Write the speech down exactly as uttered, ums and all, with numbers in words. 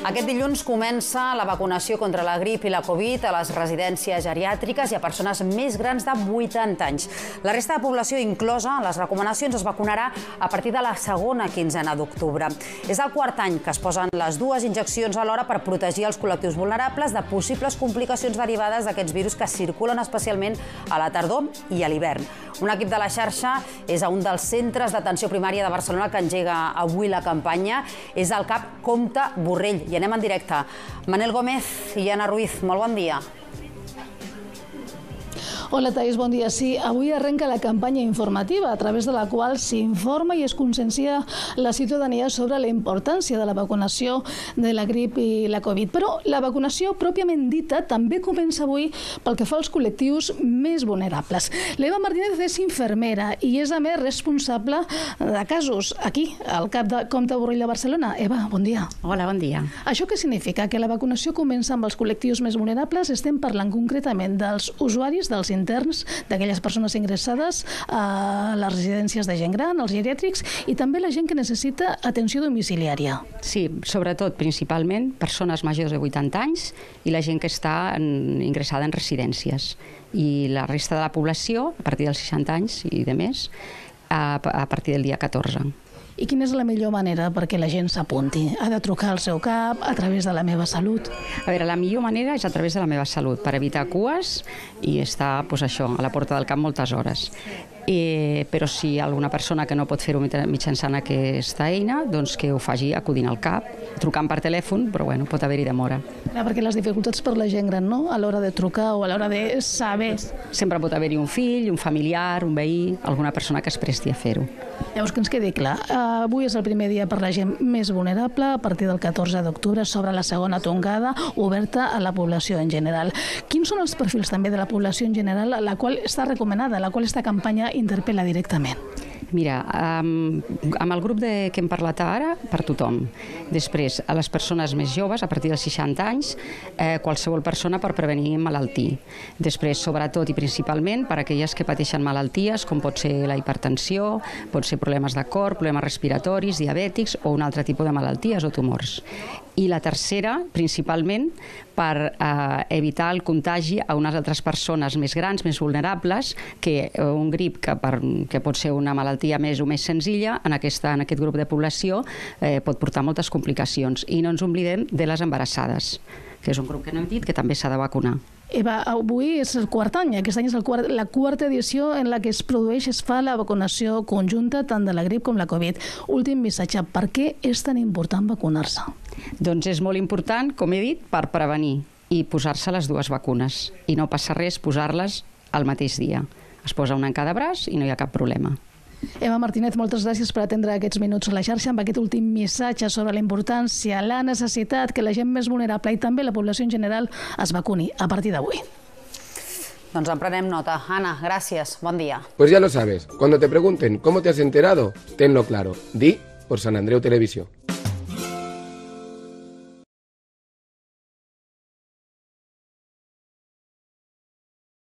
Aquest dilluns comença la vacunació contra la grip i la Covid a les residències geriàtriques i a persones més grans de vuitanta anys. La resta de població inclosa en les recomanacions es vacunarà a partir de la segona quinzena d'octubre. És el quart any que es posen les dues injeccions alhora per protegir els col·lectius vulnerables de possibles complicacions derivades d'aquests virus que circulen especialment a la tardor i a l'hivern. Un equip de la xarxa és a un dels centres d'atenció primària de Barcelona que engega avui la campanya. És el CAP Comte Borrell. I anem en directe. Manel Gómez i Anna Ruiz, molt bon dia. Hola, Thais, bon dia. Sí, avui arrenca la campanya informativa a través de la qual s'informa i es consciencia la ciutadania sobre la importància de la vacunació de la grip i la Covid. Però la vacunació pròpiament dita també comença avui pel que fa als col·lectius més vulnerables. L'Eva Martínez és infermera i és a més responsable de casos aquí, al CAP de Comte Borrell de Barcelona. Eva, bon dia. Hola, bon dia. Això què significa? Que la vacunació comença amb els col·lectius més vulnerables? Estem parlant concretament dels usuaris, dels interns, d'aquelles persones ingressades a les residències de gent gran, als geriàtrics, i també la gent que necessita atenció domiciliària. Sí, sobretot, principalment, persones majors de vuitanta anys i la gent que està en, ingressada en residències. I la resta de la població, a partir dels seixanta anys i de més, a, a partir del dia catorze. I quina és la millor manera perquè la gent s'apunti? Ha de trucar al seu CAP, a través de la Meva Salut? A veure, la millor manera és a través de la Meva Salut, per evitar cues i estar, doncs això, a la porta del CAP moltes hores. Eh, però si hi ha alguna persona que no pot fer-ho mitjançant aquesta eina, doncs que ho faci acudint al CAP, trucant per telèfon, però bueno, pot haver-hi demora. Clar, perquè les dificultats per la gent gran, no?, a l'hora de trucar o a l'hora de saber... Sempre pot haver-hi un fill, un familiar, un veí, alguna persona que es presti a fer-ho. Llavors, que ens quedi clar, avui és el primer dia per la gent més vulnerable, a partir del catorze d'octubre s'obre la segona tongada, oberta a la població en general. Quins són els perfils també de la població en general a la qual està recomanada, a la qual esta campanya interpel·la directament? Mira, amb, amb el grup de, que hem parlat ara, per tothom. Després, a les persones més joves, a partir dels seixanta anys, eh, qualsevol persona per prevenir malaltir. Després, sobretot i principalment, per a aquelles que pateixen malalties, com pot ser la hipertensió, pot ser problemes de cor, problemes respiratoris, diabètics o un altre tipus de malalties o tumors. I la tercera, principalment, per eh, evitar el contagi a unes altres persones més grans, més vulnerables, que un grip que, per, que pot ser una malaltia més o més senzilla, en, aquesta, en aquest grup de població eh, pot portar moltes complicacions. I no ens oblidem de les embarassades, que és un grup que no hem dit que també s'ha de vacunar. Eva, avui és el quart any, aquest any és el quart, la quarta edició en la que es produeix, es fa la vacunació conjunta tant de la grip com la Covid. Últim missatge, per què és tan important vacunar-se? Doncs és molt important, com he dit, per prevenir i posar-se les dues vacunes. I no passa res posar-les al mateix dia. Es posa una en cada braç i no hi ha cap problema. Eva Martínez, moltes gràcies per atendre aquests minuts a la xarxa amb aquest últim missatge sobre la importància, la necessitat que la gent més vulnerable i també la població en general es vacuni a partir d'avui. Doncs en prenem nota. Anna, gràcies. Bon dia. Pues ya lo sabes. Cuando te pregunten cómo te has enterado, tenlo claro. Di por San Andreu Televisión.